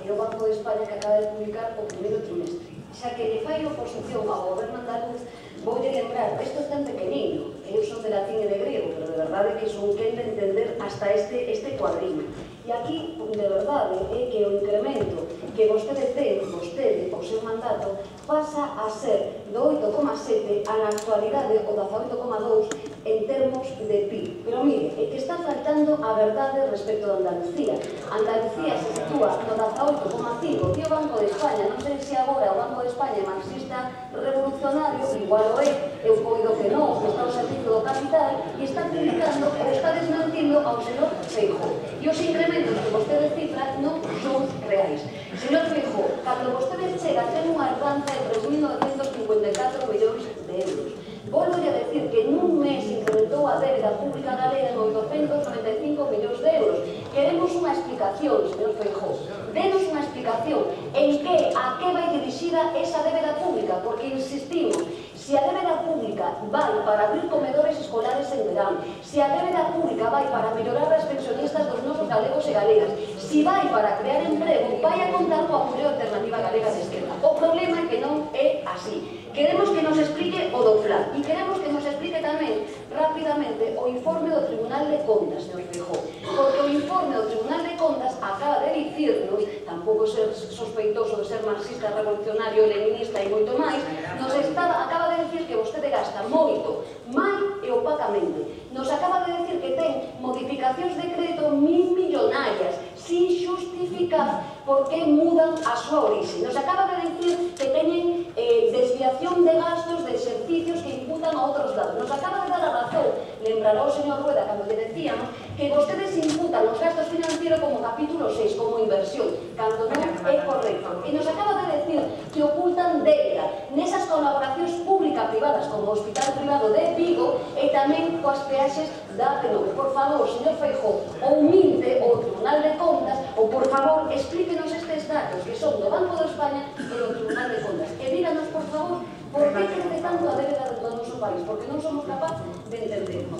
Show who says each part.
Speaker 1: e o Banco de España que acaba de publicar o primeiro trimestre. Xa que lle fai oposición ao goberno andaluz, voulle lembrar, isto é tan pequenino, eu son de latín e de griego, pero de verdade que son quen de entender hasta este cuadriño. E aquí, de verdade, é que o incremento que vostede ten, o seu mandato, pasa a ser do 8,7 a na actualidade o 18,2 en termos de PIB. Pero mire, é que está faltando a verdade respecto de Andalucía. Andalucía se sitúa no 18,5, e o Banco de España, non sei se agora o Banco de España é marxista revolucionario, igual o é, eu coido que non, que está ao servicio do capital, e está criticando ou está desmentindo ao señor Feijóo. E os incrementos que vostede cifra non son reais. Señor Feijóo, cando vostede chega ten unha herdanza de 3.954 millóns de euros. Volvo a decir que nun mes incrementou a débeda pública galega en 895 millóns de euros. Queremos unha explicación, señor Feijóo. Denos unha explicación a que vai dirixida esa débeda pública, porque insistimos, se a débeda pública vai para abrir comedores escolares en verán, se a débeda pública vai para mellorar as pensionistas dos nosos galegos e galegas, se vai para crear emprego, vai a contar coa Unión Alternativa Galega de Esquerda. O problema é que non é así. Queremos que nos explique o do plan e queremos que nos explique tamén rapidamente o informe do Tribunal de Contas, señor Feijóo, porque o informe do Tribunal de Contas acaba de dicirnos, tampouco ser sospeitoso de ser marxista, revolucionario, leninista e moito máis, acaba de dicir que vostede gasta moito, mal e opacamente. Nos acaba de dicir que ten modificacións de crédito 1.000 millonarias, sin xustificar por que mudan a súa orixe. Nos acaba de dicir que teñen desviación de gastos de exercicios que imputan a outros lados. Nos acaba de dar a razón, lembrará o señor Rueda cando lle decíamos que vostedes imputan os gastos financieros como capítulo 6, como inversión, cando non é correcto. E nos acaba de decir que ocultan débeda nesas colaboracións pública-privadas como o Hospital Privado de Vigo e tamén coas peaxes da PNV. Por favor, señor Feijóo, ou minte o Tribunal de Contas, ou por favor, explíquenos estes datos que son do Banco de España e do Tribunal de Contas. E díganos, por favor, por que crece tanto a débeda do noso país, porque non somos capaces de entendernos.